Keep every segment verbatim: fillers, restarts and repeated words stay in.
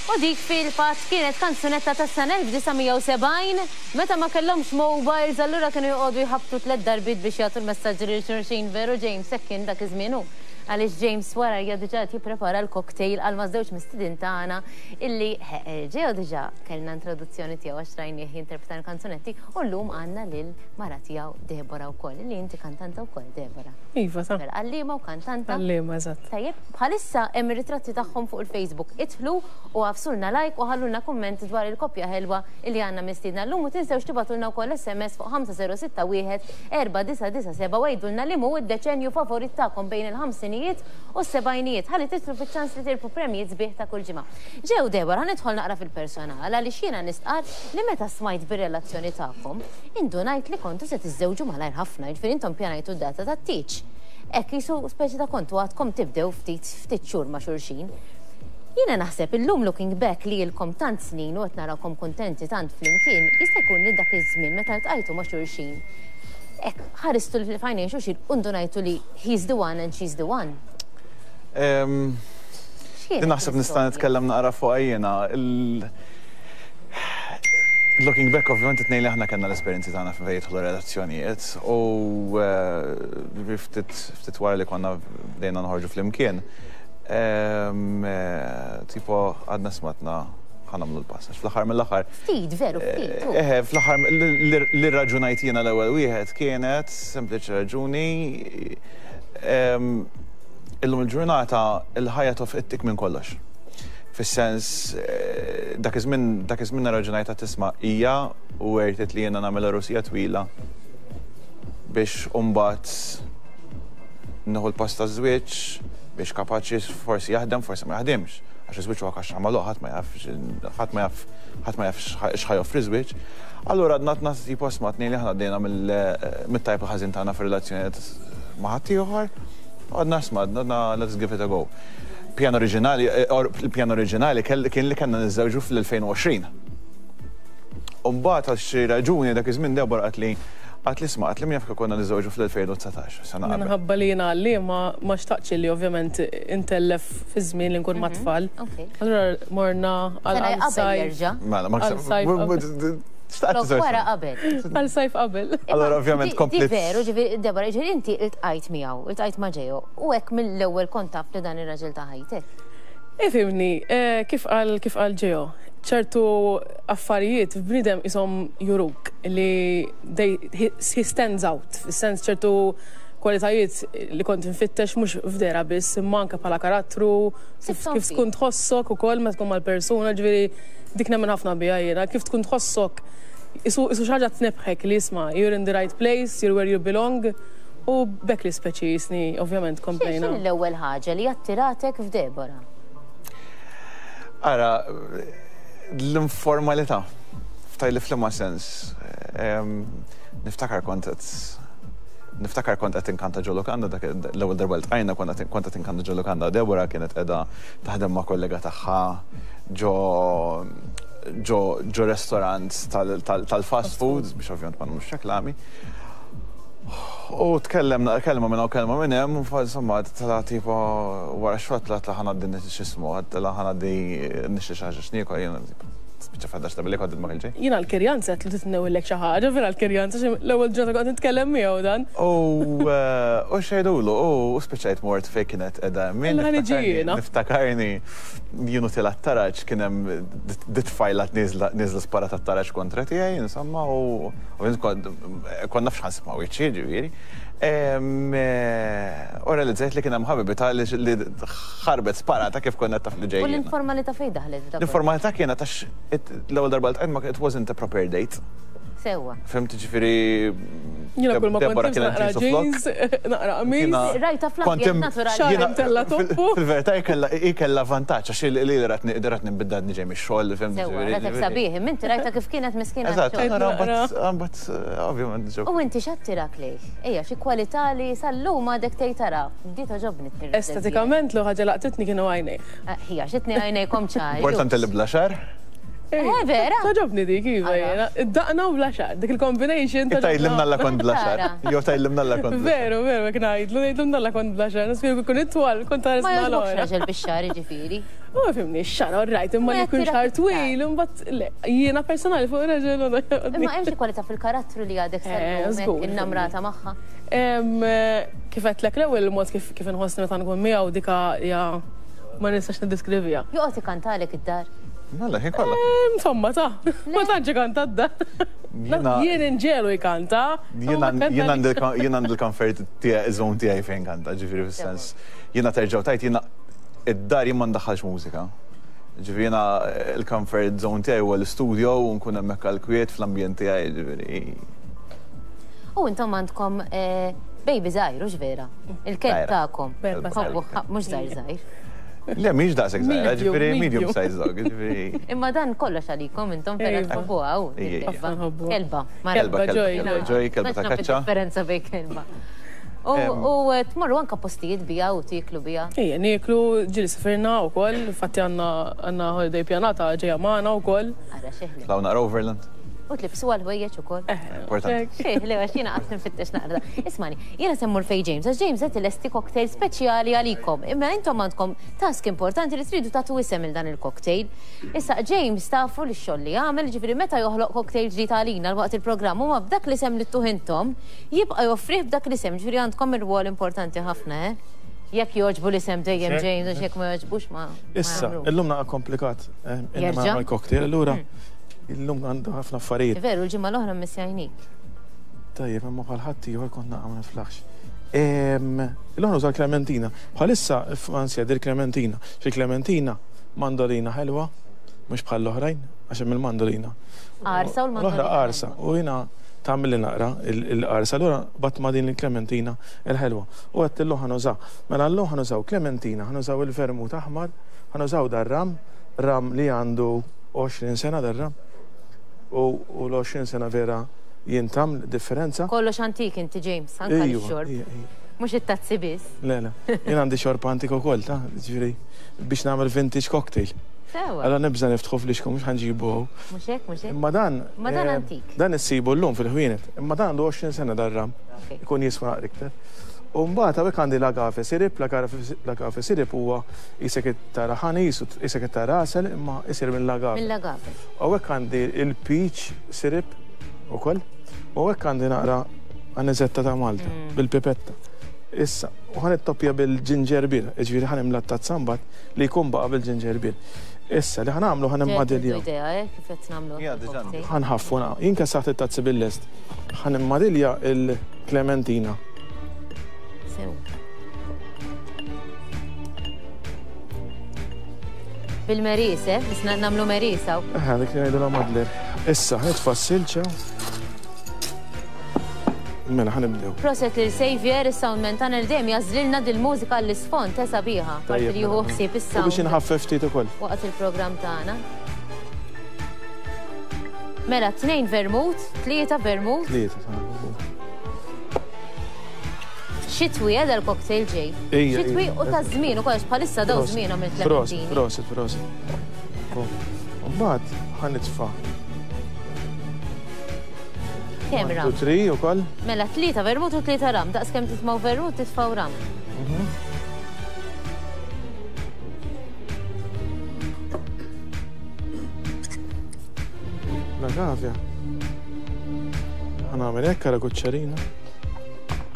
U dik fil-fatt kienet kanzunetta tas-sena elf disa' mija u sebgħin, meta ma kellhomx mobiles, allura kienu joqogħdu jħabtu tliet darbiet biex jagħtu l-messaġġi lil xulxin. Veru, James, hekk kien dak iż-żmien hu? Għaliex James wara hija diġà qed jipprepara l-cocktail għal ma' żewġ mistednin tagħna illi ġew diġà kellna introduzzjoni tiegħu għax rajnieh jinterpreta l-kanzunetti u llum għandna lil mara tiegħu Deborah wkoll, illi inti kantanta wkoll, Deborah. Iva, ta. Mela, għalliema u kantanta. Għalliema, eżatt. Tajjeb, bħalissa hemm ir-ritratti tagħhom fuq il-Facebook. Idħlu u agħfsulna like u ħallulna kumment dwar il-koppja ħelwa illi għandna mistiedna llum u tinsewx tibagħtulna wkoll S M S fuq ħamsa żero sitta wieħed erba' disa' disa' seba' u għidulna li hu id-deċenju favorit tagħkom bejn il-ħamsinijiet u s-sebgħinijiet ħalli tidħlu fiċ-ċans li tirbħu premijiet sbieħ ta' kull ġimgħa. Ġew, Deborah, nidħol naqra fil-personal għaliex jiena nistqar li meta smajt bir-relazzjoni tagħkom, indunajt li kontu se tiżżewġu malajr ħafna, jiġifieri intom pjanajtu d-data tat-tieġ. Hekk jisu speċi ta' kontu għadkom tibdew ftit ftit xhur ma' xulxin. Jiena naħseb illum, looking back, li ilkom tant snin u qed narawkom kuntenti tant flimkien, jista' jkun li dak iż-żmien meta ltqajtu ma' xulxin, hekk ħaristu f'għajnejn xulxin u ndunajtu li he's the one and she's the one. Em, X'kienet Din naħseb nista' l-istorja? Nitkellem naqra fuq jiena. Il- Looking back, ovvjament it-tnejn li aħna kellna l-esperjenzi tagħna fejn jidħlu relazzjonijiet u eh, ftit ftit wara li konna bdejna noħorġu flimkien. em, eh, Tipo għadna smatna ħa nagħmlu l-pass. Għax fl-aħħar mill-aħħar Ftit, veru, ftit. u. Eh, fl-aħħar li raġunajt jiena l-ewwel wieħed kienet sempliċi raġuni em, illum il-ġurnata il-ħajja tofqittik minn kollox. Fis-sens, eh, dak iż-żmien dak iż-żmien raġunajta tisma' hija u worth it li jiena nagħmel għerusija twila biex imbagħad nieħu l-pass ta' żwieġ biex kapaċi forsi jaħdem, forsi ma jaħdimx. Għax iż-żwieġ huwa kaxxa magħluq, ħadd ma jaf ħadd ma jaf ħadd ma jaf x'ħa joffri żwieġ. Allura għadna tna tipo smatni li aħna għaddejna mit-tajb u ħażin tagħna fir-relazzjonijiet ma' ħadd ieħor. Għadna sma, għadna let's give it a go. Pjan oriġinali, eh, il-pjan oriġinali kien li kellna niżżewġu fl-elfejn u għoxrin. Umbagħad għal xi raġuni dak iż-żmien Deborah qalt li qalt li isma', qalt li min jaf konna niżżewġu fl-elfejn u dsatax, sena qabel. Minħabba li jiena li ma ma xtaqtx li ovvjament intellef fi żmien li nkun ma' tfal. Ok. Allura morna għal Sena għal qabel sajf. jerġa'. Mela, ma Għal sajf qabel. Xtaqt Flok wara qabel. Għal sajf qabel. Allora ovvjament Di- Di komplet. veru, ġifieri, Deborah, ġifieri inti iltqajt miegħu, iltqajt ma' Ġejo, u hekk mill-ewwel kont taf li dan ir-raġel ta' ħajtek. Ifhimni, eh, kif qal kif qal Ġejo, ċertu affarijiet f'bniedem isom juruk li they, he, he stands out, fis-sens ċertu kwalitajiet li kont nfittex mhux f'dehra biss, imma anke bħala karattru, kif, Sibthom kif fih. tkun tħossok ukoll meta tkun mal-persuna, ġifieri dik nemmen ħafna biha jiena, kif tkun tħossok isu isu xi ħaġa tnebħek li isma' you're in the right place, you're where you belong, u bekk li speċi jisni ovvjament komplejna. X'inhi l-ewwel ħaġa li attiratek f'Deborah? Ara, l-informalità, ftajli f'liema sens. Em, Niftakar kont qed Niftakar kont qed inkanta ġo lukanda, dak l-ewwel darba li ltqajna kont qed kont qed inkanta ġo lukanda. Deborah kienet qiegħda taħdem ma' kollega tagħha ġo ġo ġo restaurant tal- tal- tal-fast food, biex ovvjament ma nagħmlux reklami. U tkellemna, kelma minn hawn, kelma minn hemm, u fa- insomma, tala tipo wara xogħol tla ħa ngħaddi x'ismu, tla ħa ngħaddi nixtri xi ħaġa x'niekol, jiena tipo spiċċa fadda x'ta billi kont ma kelġej. Jiena l-kirjanza qed li titnewillek xi ħaġa, vera l-kirjanza xi l-ewwel ġurnata kont nitkellem miegħu dan. U eh, u xejdulu, u spiċċajt mort fej kienet edha min. Alla niġi jiena. Niftakarni jienu tila t-taraġ kien hemm dit-tfajla nieżla nieżla spara tat-taraġ kontra tiegħi, insomma, u ovvjament kont kont naf x'ħa nsib ma' wiċċi, ġifieri. Em, eh, U realizzajt li kien hemm ħabibita li li ħarbet sparata kif konna taf li U ġejjin. l-informalità fejn daħlet f'dak? L-informalità kienet għax it- l-ewwel darba li ma it wasn't a proper date. Sewwa. Fhimt, ġifieri Jiena kull ma kont Deborah nibs kienet naqra jeans u flok. jeans, naqra qamis. Jiena- Rajta kont fl-ambjent im- naturali. Xagħar jiena- imtella fil- toppu. Fil-verità hi kellha hi kellha vantaġġ għax li li ratni ratni nbiddad niġej mix-xogħol, fhimt, Sewwa, ġifieri- ratek ġifieri- sabiħ, inti rajta kif kienet miskina Eżatt, x-xogħol. nara Naqra. mbagħad ovvjament ġew. U inti x'attirak lejh? Ejja, xi kwalità li sal-lum għadek tgħid tara. Di togħġobni. Estetikament l ħaġa laqtitni kienu għajnejh. Ħija, xitni għajnejkom ċari. Importanti li bla xagħar. Eh, vera? Togħġobni dik, iva jiena. Id-daqna u bla xagħar, dik il-combination. Tgħidli mnalla kont bla xagħar. Jew tgħidli mnalla kont. Veru, veru, jekk ngħidlu, ngħidlu mnalla kont bla xagħar. Nasib jkun itwal, kont ħares Ma jogħġbokx raġel bix-xagħar, jiġifieri. U fhimni, x-xagħar all right, imma li jkun xagħar twil, imbagħad le, jiena personali fuq raġel. Imma hemm xi kwalità fil-karattru li għadek sal-lum innamrata magħha? Kif għedtlek l-ewwel mod kif inħossni meta nkun miegħu dika hija ma nistax niddeskriviha. Joqgħod ikantalek id-dar? Mela, ħin kollha. Insomma, ta' ma tantx ikanta d-dar. Jien inġelu jkanta. Jien għandi l-comfort zone tiegħi fejn kanta, ġifieri fis-sens. Jiena terġgħu tajt jiena id-dar jien ma ndaħħalx mużika. Ġifieri jiena l-comfort zone tiegħi huwa l-istudio u nkun hemmhekk għall-kwiet fl-ambjent tiegħi, ġifieri. U intom għandkom baby żgħir, hux vera? Il-kelb tagħkom. Mhux żgħir żgħir. Le, mhix daqshekk żgħira, ġifieri medium size dog, ġifieri. Imma dan kollox għalikom intom vera tħobbuha hawn. Kelba. Kelba, kelba, ġoj, kelba ta' kaċċa. Differenza bejn kelba. U tmorru anka postijiet bija u tieklu bija. Ejja, nieklu, ġieli sifirna wkoll, infatti għandna holiday pjanata ġejja magħna wkoll. Ara xeħli. Tlawna Overland. U tlibsu għal-ħwejjeġ ukoll. Importanti. Le, għax jiena qatt nfittex naqra. Ismani, jiena semmur fej James, għax James qed ilesti cocktail speċjali għalikom. Imma intom għandkom task importanti li tridu tagħtu isem il dan il-cocktail. Issa James tafu li x-xogħol li jagħmel, ġifieri meta joħloq cocktail ġdid għalina waqt il-programm huma b'dak l-isem li ttuh intom, jibqa' joffrih b'dak l-isem, ġifieri għandkom ir-rwol importanti ħafna, eh? Jekk jogħġbu l-isem dejjem James, għax jekk ma jogħġbux ma. Issa, illum naqa' komplikat. Jerġa' il-cocktail, allura illum għandu ħafna affarijiet. Veru, l-ġimgħa l-oħra mmissjajnik. Tajjeb, imma bħal ħadd ieħor kont naqa' ma niflaħx. Illum nuża l-Klementina. Bħalissa f'Ansja dir Klementina. Xi Klementina mandolina ħelwa, mhux bħal l-oħrajn, għax hemm il-mandolina. Qarsa u l-mandolina. L-oħra qarsa u jiena tagħmel li naqra il-qarsa, allura bat ma' din il-Klementina il-ħelwa. U għedt illum ħa nużaw. Mela llum ħa nużaw Klementina, ħa nużaw il-vermut aħmar, ħa nużaw dar-ram, ram li għandu għoxrin sena dar-ram. U l-għoxrin sena vera jintam differenza. Kollox antik inti James, anka x-xorb. Mhux it-tazzi biss. Le, le. Jien għandi xorb antik ukoll, ta' ġifieri biex nagħmel vintage cocktail. Sewa. Allora nibża' niftħu flixkom mhux ħanġibu hawn. Mhux hekk, mhux hekk. Imma dan. Imma dan antik. Dan issibu llum fil-ħwienet. Imma dan għandu għoxrin sena dar-ram. Ikun jiswa naqra iktar. U mbagħad hawnhekk għandi l-agave syrup, l-agave syrup huwa isek tara ħani, isek tara għasel, imma isir mill-agave. Mill-agave. Hawnhekk għandi il-peach syrup ukoll, u hawnhekk għandi naqra aniżetta ta' Malta bil-pipetta. Issa, u ħan ittoppja bil-ginger beer, jiġifieri ħan imla tazza mbagħad li jkun baqa' bil-ginger beer. Issa li ħanagħmlu ħan immadilja. Idea, eh, kif qed nagħmlu. Ħanħaffu jien kessaħt it-tazzi bil-lest. Ħan immadilja il-Klementina. Bil-meris, eh? Bisna namlu merisa. Eh, dik li ngħidu madler. Issa, nitfa' s-silġa. Mela, ħanibdew. Proset lil Xavier, is-soundman tagħna li dejjem jażlilna dil-mużika l-isfond ta' sabiħa. Parti li jieħu ħsieb is-sound. U biex inħaffef ftit ukoll. Waqt il-programm tagħna. Mela, tnejn vermut, tlieta vermut. Tlieta, Xitwi għedha l-cocktail ġej. Xitwi u ta' żmien u kollox bħalissa daw żmien għamil tlementini. Prosit, prosit. Mbagħad ħa nitfa'. Kemm ram? Tri ukoll. Mela tlieta vermut u tlieta ram, daqs kemm titmaw vermut titfgħu ram. L-agavja. Ħa nagħmel hekk għala kuċċarina.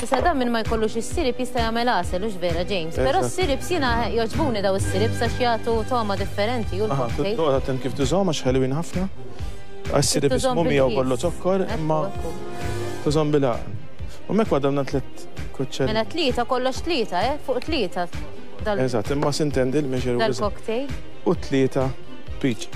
Issa dan minn ma jkollux is-sirip jista' jagħmel għasel hux vera James. Però s-sirip jiena jogħġbuni daw is-sirip sax jagħtu togħma differenti u l-cocktail. Toqgħod attent kif tużahom għax ħelwin ħafna. Għas-sirip ismu miegħu kollu zokkor imma tużhom bil-għaqal. U hemmhekk għadamna tliet kuċċeri. Mela tlieta kollox tlieta, eh? Fuq tlieta. Eżatt, imma sintendi l-measure dal-cocktail. U tlieta peach.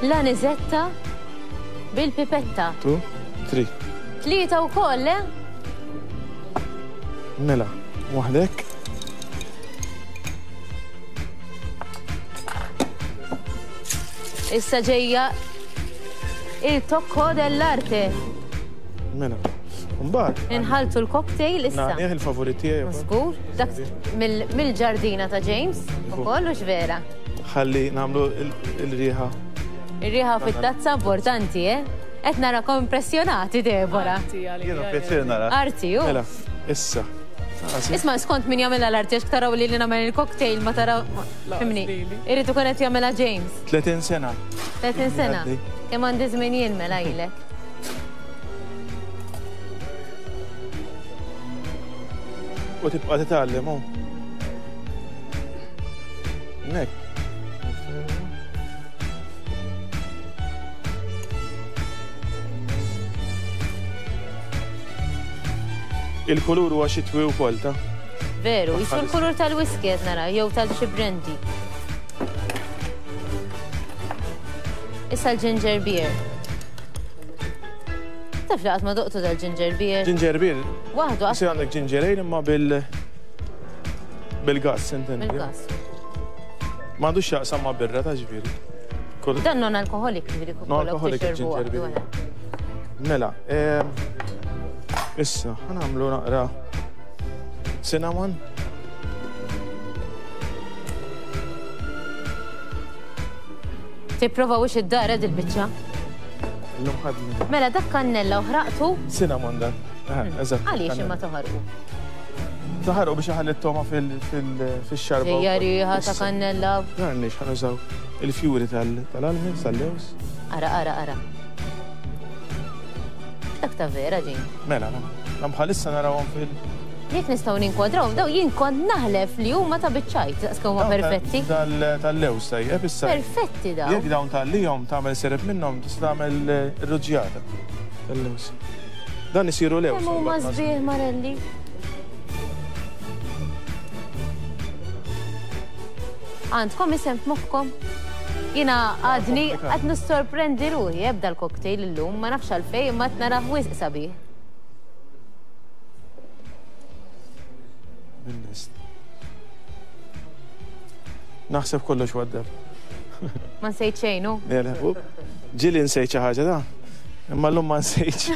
L-aniżetta bil-pipetta. Two, three. Tlieta wkoll, eh? Mela, waħdek. Issa ġejja Il-tocco dell'arte. Mela. Mbagħad. Inħaltu l-cocktail issa. Nagħnih il-favorit tiegħi. Żgur, dak mill-ġardina ta' James ukoll u x'vera. Ħalli nagħmlu il-riħa. Ir-riħa fit-tazza importanti, eh? Qed narakom impressjonati, Deborah. Jiena pjaċir nara. Arti, u. Mela, issa. Isma' skont min jagħmilha l-arti għax taraw li li nagħmel il-cocktail ma taraw. Fimni. Irid ikun qed jagħmilha James. tletin sena. tletin sena. Kemm għandi żmien jien mela ilek. U tibqa' titgħallem hu. Nek. Il-kulur huwa xitwi wkoll ta'. Veru, jisu l-kulur tal-whisky qed nara, jew tal-xi brandy. Issa l-ginger beer. Taf li qatt ma doqtu dal-ginger beer? Ginger beer? Waħdu għax. Għandek ginger ale imma bil bil-gas, intendi. Bil-gas. M'għandux x'jaqsam ma' birra ta' ġifieri. Dan non-alkoholik ġifieri Non-alkoholik ginger beer. Mela, issa, ħanamlu naqra cinnamon. Tipprova wix id-dar id-biċċa. Illum ħadni. Mela dak kannella u ħraqtu. Cinnamon dan. Eżatt. Għaliex imma toħarqu? Toħarqu biex iħalli t-toma fil-xarba. Ġejja riħa ta' kannella. Għaliex ħanużaw il-fjuri tal-almonds, tal-lews. Ara, ara, ara. Dak ta' vera ġin. Mela, mela. Bħalissa narawhom fil- Jekk nistgħu ninkwadrawhom daw jien kont naħlef li huma ta' biċċajt, daqs kemm huma perfetti. Tal-lews tajjeb issa. Perfetti daw. Jekk dawn tal-lihom tagħmel sereb minnhom tista' tagħmel ir-ruġġjata tal-lews. Dan isiru lews. Kemm huma sbieħ Marelli. Għandkom isem f'moħħkom? Jiena għadni qed nissorprendi ruħi ebda l-cocktail illum, ma nafx għalfejn imma qed narah wisq sabiħ. Naħseb kollox waddab. Ma nsejt xejn, hu? Ġieli nsejt xi ħaġa da, imma llum ma nsejtx.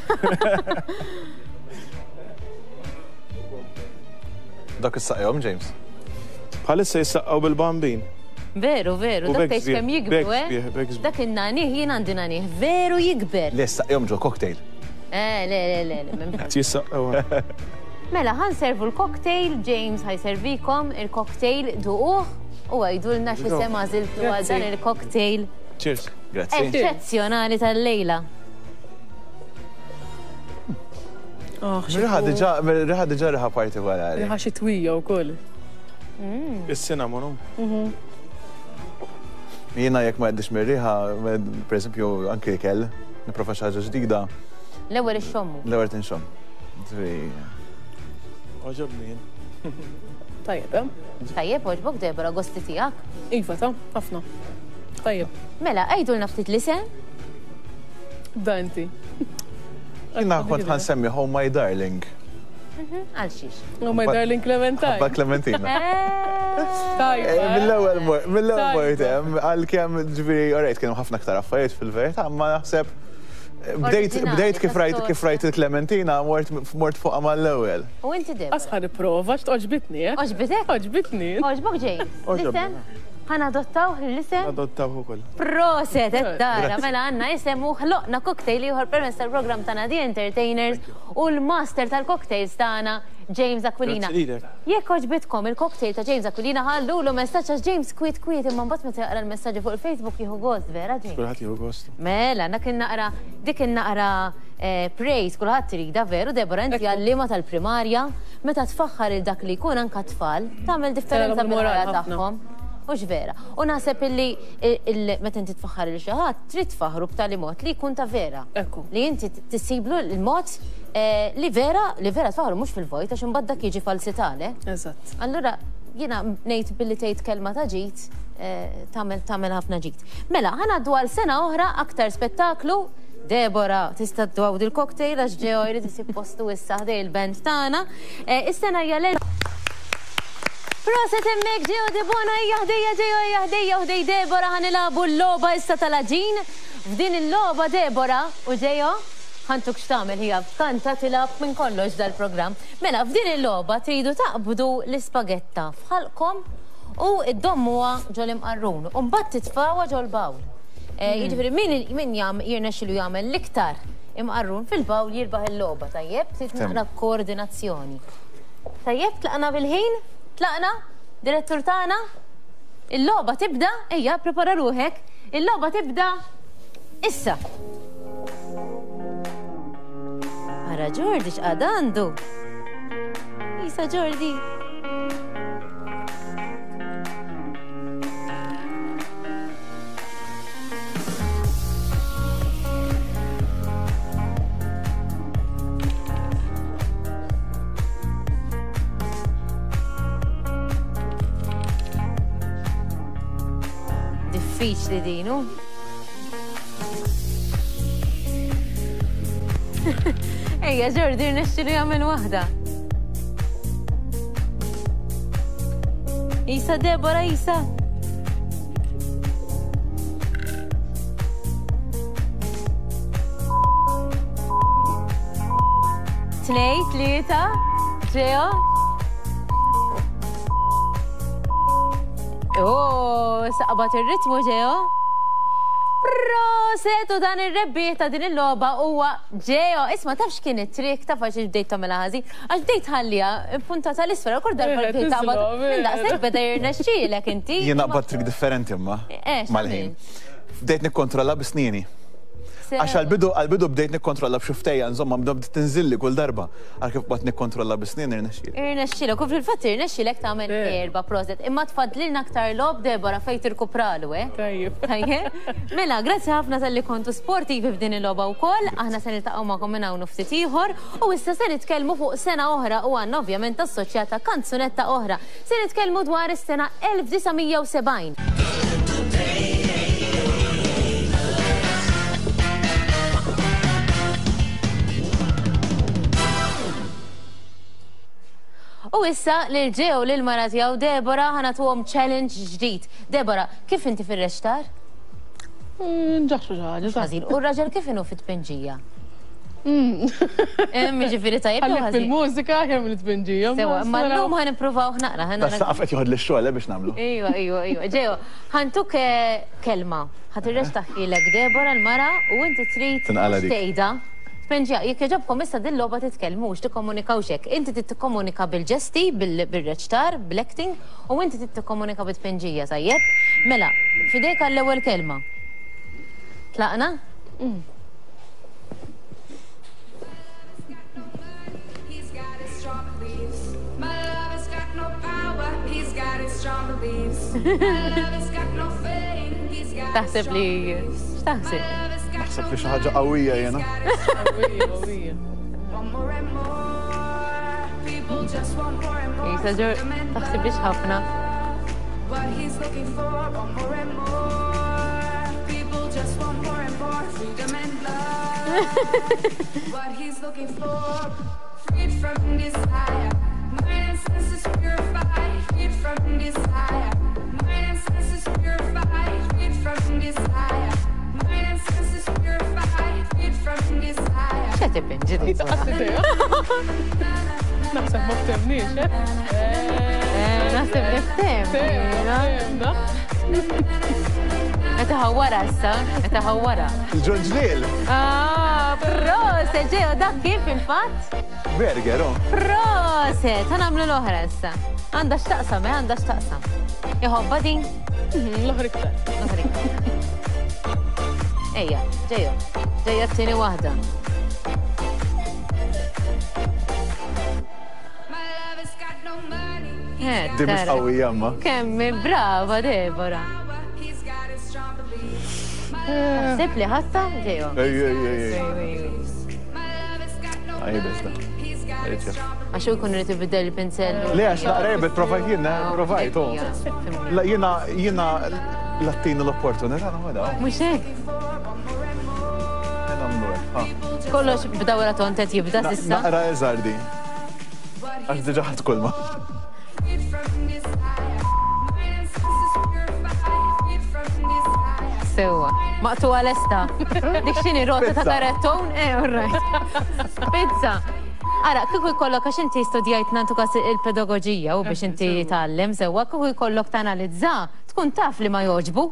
Dak issaqjhom, James? Bħalissa jissaqqgħu bil-bambin. Veru, veru, dak tgħid kemm jikbru, eh? Dak in-nanih jien għandi nanih, veru jikber. Le saqjhom ġo cocktail. Eh, le, le, le, le. Jissaqqgħu. Mela, ħanservu l-cocktail, James ħajservikom il-cocktail duquh u għajdulna x'isem għażiltu għal dan il-cocktail. Cheers. Grazzi. Eċċezzjonali tal-lejla. Riħa diġà, riħa diġà riħa partikolari. Riħa xitwija wkoll. Is-cinnamon. Jiena jekk ma għaddix mir-riħa, per eżempju, anke ikel, nipprova xi ħaġa ġdida. L-ewwel ixxommu. L-ewwel tinxomm. Għoġobni jien. Tajjeb, eh? Tajjeb, għoġbok Deborah, gosti tiegħek? Iva, ta' ħafna. Tajjeb. Mela, għidulna ftit l-isem? Da inti. Jiena kont ħansemmi Oh My Darling. Għal xiex? Oh My Darling Clementine. Ħabba Clementina. Tajjeb. Mill-ewwel mill-ewwel mort hemm għalkemm ġifieri alright kienu ħafna aktar affarijiet fil-verità, ma naħseb bdejt bdejt kif rajt kif rajt il-Clementina mort mort fuqha mal-ewwel. U inti Deborah? Asħar prova x'tgħoġbitni, eh? Għoġbitek? Għoġbitni. Għoġbok James? L-isem? Ħanadottawh l-isem? Adottawh ukoll. Proset, qed tara, mela għandna isem u ħloqna cocktail ieħor permezz tal-programm tagħna The Entertainers u l-master tal-cocktails tagħna James Aquilina. Jekk għoġbitkom il-cocktail ta' James Aquilina ħallulu messaġġ għax James kwiet kwiet imma mbagħad meta jaqra l-messaġġi fuq il-Facebook jieħu gost, vera James? Kulħadd jieħu gost. Mela, dak naqra dik naqra praise kulħadd irida veru, Deborah, inti għalliema tal-primarja, meta tfaħħar il dak li jkun anke tfal, tagħmel differenza bil-ħajja tagħhom. Mhux vera. U naħseb illi meta inti tfaħħar il xi ħadd trid tfaħħru b'tali mod li jkun ta' vera. Li inti tissiblu l-mod li vera li vera tfaħħru mhux fil-vojt għax imbagħad dak jiġi falsità, le? Eżatt. Allura jiena ngħid billi tgħid kelma ta' ġid tagħmel tagħmel ħafna ġid. Mela, ħanaddu għal sena oħra aktar spettaklu. Deborah, tista' twawdi l-cocktail għax ġew jrid isib postu issa ħdej il-band tagħna. Is-sena hija l Proset hemmhekk Gio Debono hija ħdejja Gio hija ħdejja u ħdej Deborah ħanilagħbu l-logħba issa tal-għaġin. F'din il-logħba Debora u Ġejo, ħa ntuk x'tagħmel hija kanta tilgħab minn kollox dal-programm. Mela, f'din il-logħba tridu taqbdu l-ispagetta f'ħalqkom u iddommuha ġol-imqarrun u mbagħad titfgħuha ġol-bawl. Jiġifieri min min jirnexxilu jagħmel l-iktar imqarrun fil-bawl jirbaħ il-logħba, tajjeb? Trid naqra koordinazzjoni. Tajjeb, tlaqna bil-ħin? Tlaqna? Direttur tagħna? Il-logħba tibda, ejja, prepara ruħek, il-logħba tibda issa. Ara Jordi x'qad għandu. Isa Jordi. Diffiċli dinu. Ejja, Jordi, rnexxilu jagħmel waħda. Isa, Debora, Isa. Tnej, tlieta, Ġeo. Oh, saqbat ir-ritmu, Ġeo. Proset, u dan ir-rebbieħ ta' din il-logħba huwa Ġeo. Isma' tafx kien it-trick, taf għax bdejt tagħmilha ħażin, għax bdejt ħallija puntata l-isfel, kull darba bdejt taqbad minn daqshekk beda jirnexxielek inti. Jien naqbad trick differenti imma mal-ħin. Bdejt nikkontrolla bi snieni. Għax għal-bidu għal-bidu bdejt nikkontrolla b'xuftejja, insomma, bdejt tinżilli kull darba. Għal kif bqgħet nikkontrolla bi snin irnexxielek. Irnexxielek, u fil-fatt irnexxielek tagħmel erba' proset. Imma tfadlilna aktar logħob Debora fejn tirkupralu, eh? Tajjeb. Tajjeb. Mela, grazzi ħafna talli kontu sportivi f'din il-logħba wkoll. Aħna se niltaqgħu magħkom minn hawn ftit ieħor u issa se nitkellmu fuq sena oħra u għandna ovvjament assoċjata kanzunetta oħra. Se nitkellmu dwar is-sena elf disa' mija u sebgħin. U issa lil Ġeo lil mara tiegħu Debora ħa nagħtuhom challenge ġdid. Debora, kif inti fir-rextar? Nġaxxu xi ħaġa. Ħażin. U r-raġel kif inhu fit-tpinġija? Jiġifieri tajjeb jew ħażin? Fil-mużika kemm il-tpinġija. Sewa, imma llum ħa nippruvaw naqra. Das saqaf qed joħod lix-xogħol biex nagħmlu. Ejwa, ejwa, ejwa. Ġeo, ħa ntuk kelma. Ħa tirrextaħilek Debora l-mara u inti trid tgħidha. Tpinġija, jekk jogħġobkom issa din logħba titkellmux, tikkomunikawx hekk. Inti trid tikkomunika bil-ġesti, bil-reċtar, bil-acting, u inti trid tikkomunika bit-tpinġija, tajjeb? Mela, fidejk għall-ewwel kelma. Tlaqna? Taħseb li... X'taħseb? Naħseb li xi ħaġa qawwija jiena. Qawwija, qawwija. Isa ġor, taħseb li ħafna. X'qed ipinġi din? Naħseb ma ftehmniex, eh? Naħseb li ftehmna. Qed iħawwarha issa, qed iħawwarha. Il-ġonġliel. Ah, proset, Ġeo, dak kif fil-fatt? Burger, oh. Proset, ħa nagħmlu l-oħra issa. Għandha x'taqsam, eh, għandha x'taqsam. Iħobba din? L-oħra iktar. L-oħra iktar. Ejja, Ġejo, ġejja t-tieni waħda. Di mhux qawwija imma. Kemm brava Debora. Taħseb li ħatta, Ġejo? Ej, ej, ej, ej. Għajbes da. Għax u jkun irid ibiddel il-pinsell. Le, għax naqra jibet, provajt jiena, provajt, oh. La, jiena, jiena lattini l-opportunità, naħodha. Mhux hekk. Nagħmlu hekk, ha. Kollox b'dawra tont qed jibda s'issa. Naqra eżardi. Għax diġà ħadd kulma. Sewwa. Maqtuwa lesta. Dik x'inhi rota ta' karettun? Eh, all right. Pizza. Ara, kieku jkollok għax inti studjajt nantu kas il-pedagogija u biex inti tgħallem sewwa, kieku jkollok tanalizza, tkun taf li ma jogħġbu.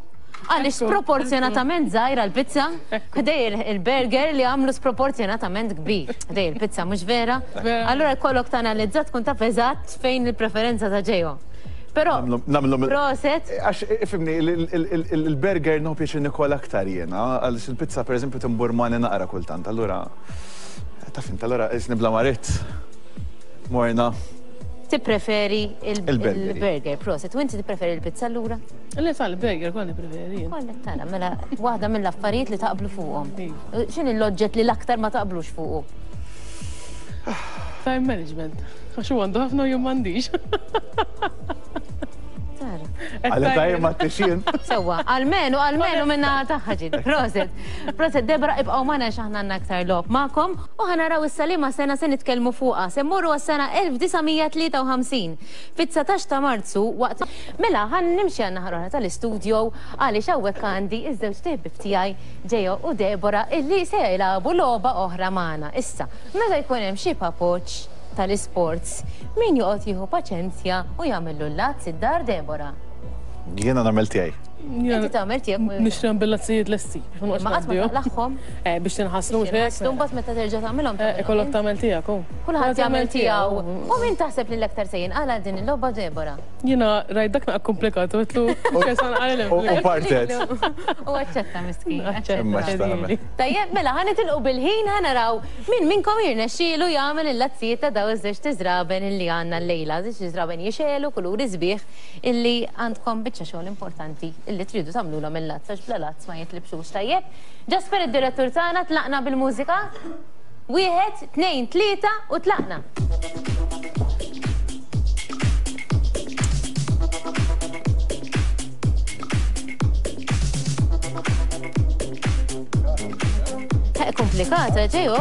Għaliex sproporzjonatament żgħira l-pizza, ħdej il-burger li għamlu sproporzjonatament kbir. Ħdej il-pizza mhux vera. Allura jkollok tanalizza tkun taf eżatt fejn il-preferenza ta' ġejo. Però proset. Għax ifhimni, il-burger nieħu pjaċir nikol aktar jiena, għaliex il-pizza pereżempju timburmani naqra kultant, allura taf int, allura isni bla marit. Morna. Tippreferi il-burger, proset. U inti tippreferi il-pizza allura? Le tal-burger kont nippreferi. Kollha tara, mela waħda mill-affarijiet li taqblu fuqhom. X'inhi l-oġġett li l-aktar ma taqblux fuqu? Time management. Għax hu għandu ħafna u jien m'għandix. Tara. Għalli tajjeb ma t-tixin. Sewwa, almenu, almenu minna tagħha ġid. Proset. Proset, Debra, ibqgħu magħna għax aħna għandna aktar logħob magħkom u ħa naraw issa liema sena se nitkellmu fuqha. Se mmorru għas-sena elf disa' mija tlieta u ħamsin. Fit-dsatax ta' Marzu waqt mela ħan nimxi għan naħa l-oħra tal-istudio għaliex hawnhekk għandi iż-żewġ ħbieb tiegħi Ġejo u Debora illi se jilagħbu logħba oħra magħna. Issa, meta jkun hemm xi papoċ tal-isports, min joqgħod jieħu paċenzja u jagħmillu l-lazz id-dar Debora? Jiena nagħmel tiegħi. Inti tagħmel tiegħek u Nixtri bil-lazzijiet lesti biex ma noqgħodx Ma qatt ma ngħaddihom. taqlaħħom. Eh, biex tinħaslu mhux hekk. Tinħaslu mbagħad meta terġa' tagħmilhom. Eh, ikollok tagħmel tiegħek hu. Kulħadd jagħmel tiegħu. U min taħseb li l-aktar se jinqala din il-logħba Debora? Jiena rajt dak naqra komplikat u għedtlu x'san qalilhem. U partet. U aċċetta miskin. Aċċetta. Imma x'tagħmel. Tajjeb, mela ħa nitilqu bil-ħin ħa naraw min minnkom jirnexxielu jagħmel il-lazzijiet ta' daw iż-żewġ tiżraben illi għandna llejla, żewġ tiżraben jixegħlu kuluri sbieħ illi għandkom biċċa xogħol importanti illi tridu tagħmlulhom il-lazz għax bla lazz ma jitlibxux. Tajjeb. Ġasper id-direttur tagħna tlaqna bil-mużika. Wieħed, tnejn, tlieta u tlaqna. Eh, komplikata, ġejo.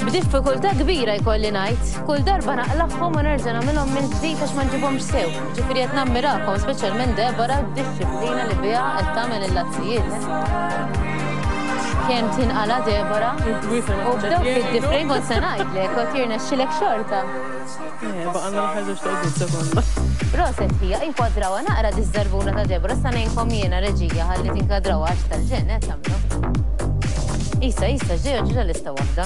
B'diffikultà kbira jkolli ngħid, kull darba naqlaħħom u nerġa' nagħmilhom minn ġdid għax ma nġibhomx sew. Ġifieri qed nammirakom, speċjalment Debora d-disciplina li biha qed tagħmel il-lazzijiet. Kemm tinqala Debora? U b'dawk id-diffrejn kont se ngħidlek, kont jirnexxilek xorta. Eh, baqgħna l-aħħar żewġ toqgħod sekonda. Proset hija, inkwadrawha naqra diż-żarbuna ta' Debora, sa ngħinkom jiena reġija ħalli tinkadrawha għax tal-ġenn qed tagħmlu. Issa, issa, ġew ġew lista waħda.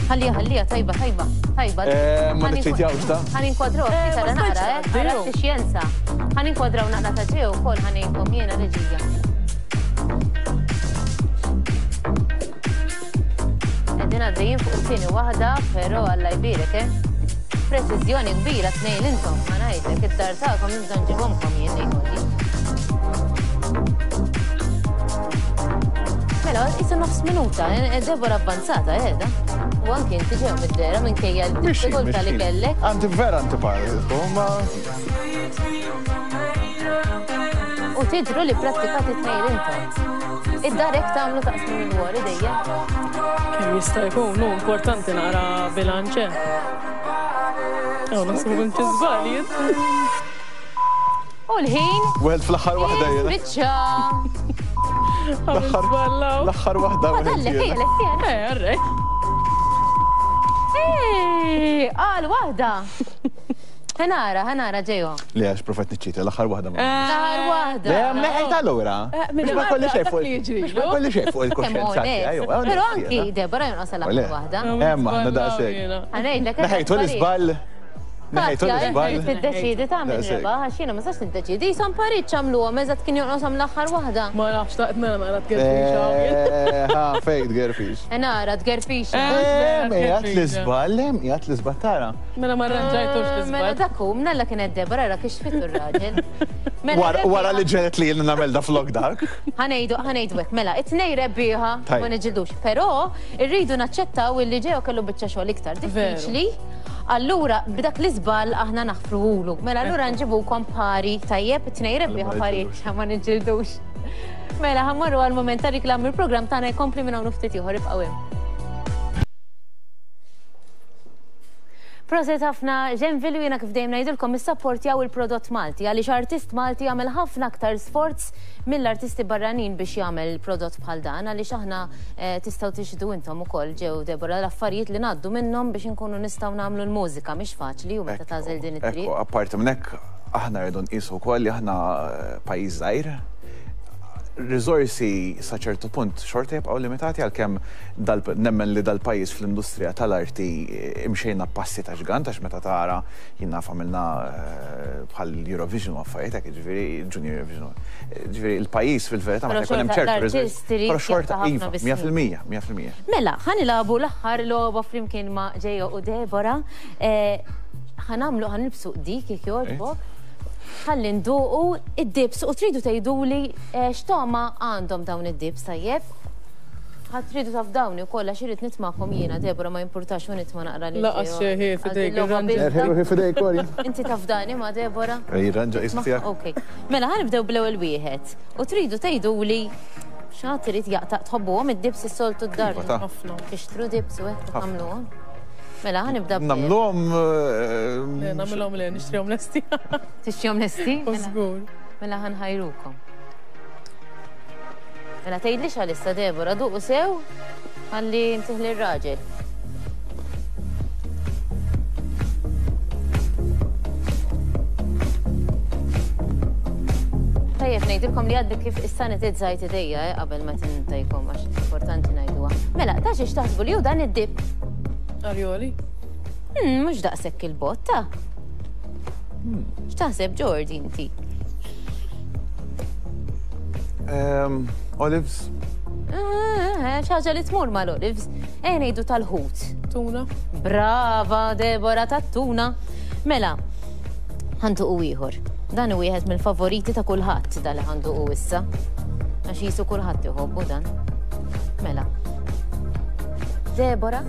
Ħallija, ħallija, tajba, tajba, tajba. Eh, ma niċċitjawx ta'. Ħa ninkwadraw Eh, ftit ma għara naqra, stajtx eh, għara tgħaddilu. xjenza. Ħa ninkwadraw naqra ta' ġew ukoll ħa ngħinkom jiena reġija. Qegħdin għaddejjin fuq it-tieni waħda, però Alla jbierek, eh. Preċiżjoni kbira tnejn intom, ma ngħidlek, id-dar tagħkom nibda nġibhomkom jien ngħiduli. Mela, issa nofs minuta, eh, Debora avvanzata, eh, da. U anki inti ġew mid-dera minkejja l-diffikultà li kellek. Anti vera antipatiku, ma U tidru li prattikati tnejn intom. Id-dar hekk tagħmlu taqsmu l-wori dejjem. Kemm jista' jkun, nu importanti naqra bilanċ. Ew naħseb ikun xi żball jien. U l-ħin Wieħed fl-aħħar waħda jiena. Spiċċa. L-aħħar L-aħħar waħda Ma dallek wieħed hija jiena. l-estija. Eh, arrej. Ej, qal waħda. Ħanara, ħanara ġejo. Le għax profet niċċita, l-aħħar waħda ma. L-aħħar waħda. Le, neħejt allura. Eh, Biex ma kolli xejn fuq dak li jiġri, biex ma kolli xejn fuq Kemm il-kuxjenza tiegħi. onest. Però anki Debora jonqos l-aħħar waħda. Emma, aħna daqshekk. Ħanejdlek. Neħejtu l-iżball. Neħejtu l-iżball. Tiddeċidi tagħmel Daqshekk. rebaħ għax jiena ma sax niddeċidi. Jisom pariċ għamluhom eżatt kien jonqoshom l-aħħar waħda. Ma nafx taqt nara naqra tgerfix. Eh, Ha, fejn tgerfix. Nara tgerfix. Eh. Em, qiegħed l-iżball, em, qiegħed l-iżball tara. Mela ma rranġajtux Mela l-iżball. dak hu, mnalla kienet Debora ra kif xfitu r-raġel. Mela Wara wara li rebbieħa- ġenet li jiena nagħmel da flok dak. Ħanejdu, ħanejdu hekk, mela, it-tnej rebbieħa Tajjeb. ma niġġildux, però irridu naċċettaw illi ġew kellu biċċa xogħol iktar diffiċli. Allura, b'dak l-iżball aħna naħfruhulu. Mela allura nġibukom pari, tajjeb, it-tnej rebbieħa ma pari, niġġildux. ma niġġildux. Mela, ħa mmorru għal moment ta' reklam, il-programm tagħna jkompli minn hawn ftit ieħor, ibqgħu hemm. Proset ħafna Genville, u jiena kif dejjem ngħidilkom issapportjaw il-prodott Malti, għaliex artist Malti jagħmel ħafna aktar sforz mill-artisti barranin biex jagħmel prodott bħal dan, għaliex aħna tistgħu tixhdu intom ukoll ġew Deborah l-affarijiet li ngħaddu minnhom biex inkunu nistgħu nagħmlu l-mużika, mhix faċli u meta tagħżel din it-triq. Ekku, apparti minn hekk aħna rridu nqisu wkoll li aħna pajjiż żgħir, riżorsi sa ċertu punt xorta jibqgħu limitati, għalkemm nemmen li dal-pajjiż fl-industrija tal-arti imxejna passi ta' ġgant, għax meta tara jien naf għamilna bħal Eurovision u affarijiet hekk, jiġifieri Junior Eurovision. Jiġifieri il-pajjiż fil-verità meta jkun hemm ċertu riżorsi. Però xorta iva, mija fil-mija, mija fil-mija. Mela, ħa nilagħbu l-aħħar logħba flimkien ma' Ġejo u Deborah. Ħa nagħmlu, ħa nilbsu dik jekk jogħġbok. Ħalli nduqu id-dips u tridu tgħiduli x'togħma għandhom dawn id-dips, tajjeb? Ħadd tridu taf dawni wkoll għax irid nitmakom jiena, Deborah, ma jimpurtax u nitma' naqra lil Laqas xejn ħi f'idejk, irranġa. Inti taf dani ma' Deborah? Jirranġa qismu tiegħek. Okej. Mela ħa nibdew bl-ewwel wieħed. U tridu tgħiduli x'għad irid jaqta', tħobbuhom id-dips is-soltu d-dar. Tixtru dips u hekk tagħmluhom. Mela, ħa nibda b- Nagħmluhom, Le, nagħmluhom le, nixtrihom lesti. Tixtrihom lesti? Żgur. Mela ħa nħajrukom. Mela tgħidlix għalissa Deborah, duqu sew ħalli ntih lir-raġel. Tajjeb ngħidilkom li għaddi kif issanitizzajt idejja, eh, qabel ma tintajkom, għax importanti ngħiduha. Mela, ta' xiex taħsbu li hu dan id-dip? Arjoli? Hmm, mhux daqshekk il-botta. X'taħseb Jordi inti? Olives? Xi ħaġa li tmur mal-olives. Ejja ngħidu tal-ħut. Tuna. Brava Deborah, tat-tuna. Mela, ħanduqu ieħor. Dan hu wieħed mill-favoriti ta' kulħadd dal li ħanduqu issa. Għax jisu kulħadd iħobbu dan. Mela. Deborah?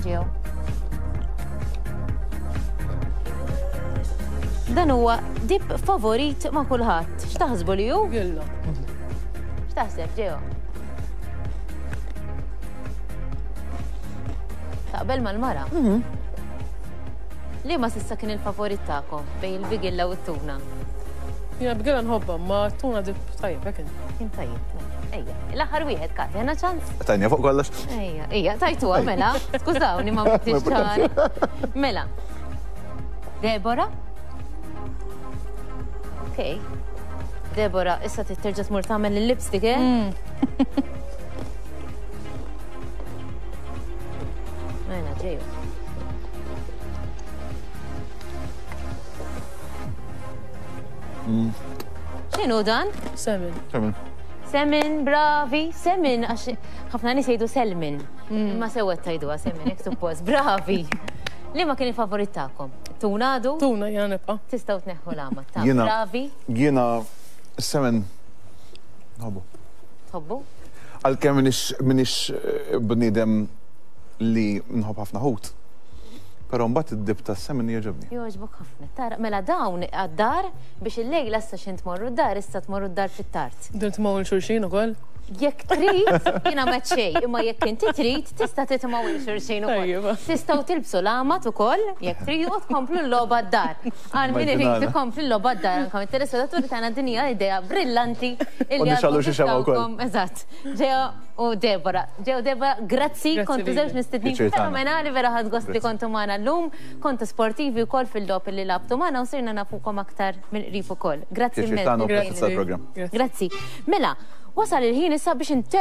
Ġew. Dan huwa dip favorit ma' kulħadd. X'taħsbu li hu? Gilla. X'taħseb Ġew? Taqbel mal-mara? Li ma s'issa kien il-favorit tagħkom bejn il-bigilla u t-tuna? Jiena bigilla nħobbha, ma t-tuna dip tajjeb, hekk kien. Kien tajjeb. Ejja, l-aħħar wieħed, Kati, għandna ċans? Tajnija fuq kollox. Ejja, ejja, tajtuha mela. Skużawni ma bdiex ċara. Mela. Deborah? Okej. Deborah, issa trid terġa' tmur tagħmel il-lipstick, eh? Mela, ġeju. X'inhu dan? Semin. Semin. Semin, bravi, semin, għax ħafna nies jgħidu selmin. Imma sewwa tgħiduha semin, hekk suppost, bravi. Liema kien il-favorit tagħkom? Tuna għadu? Tuna, jiena nibqa'. Tistgħu tneħħu l-għamad ta' Jiena- bravi. Jiena semin nħobbu. Tħobbu? Għalkemm minix, minix bniedem li nħobb ħafna ħut. Però mbagħad id-dib tas-semin jogħġobni. Jogħġbok ħafna. Tara, mela dawn għad-dar biex il-lejla issa x'int tmorru d-dar, issa tmorru d-dar fit-tard. Din tmawwel xulxin ukoll? Jekk trid, jiena ma xejn, imma jekk inti trid, tista' titmawwel xulxin ukoll. Tajjeb. Tistgħu tilbsu l-għamad ukoll, jekk trid, u tkomplu l-logħba d-dar. Għal min irid Immaġinana. ikompli l-logħba d-dar, anke mit-telespettaturi tagħna din hija idea brillanti illi U nixgħallu għadkom xi xemgħa wkoll. tistgħukom. Eżatt. Ġew u Deborah. Ġew Deborah, grazzi, Grazzi kontu lilek. żewġ mistednin Pjaċir tagħna. fenomenali, vera ħadd gost li Grazzi. kontu magħna llum, kontu sportivi wkoll fil-logħob li lagħabtu magħna u sirna nafukom aktar mill-qrib ukoll. Grazzi Pjaċir immens. tagħna u Grazzi. grazzi tal-programm. Grazzi. Grazzi. Mela, wasal il-ħin issa biex intemm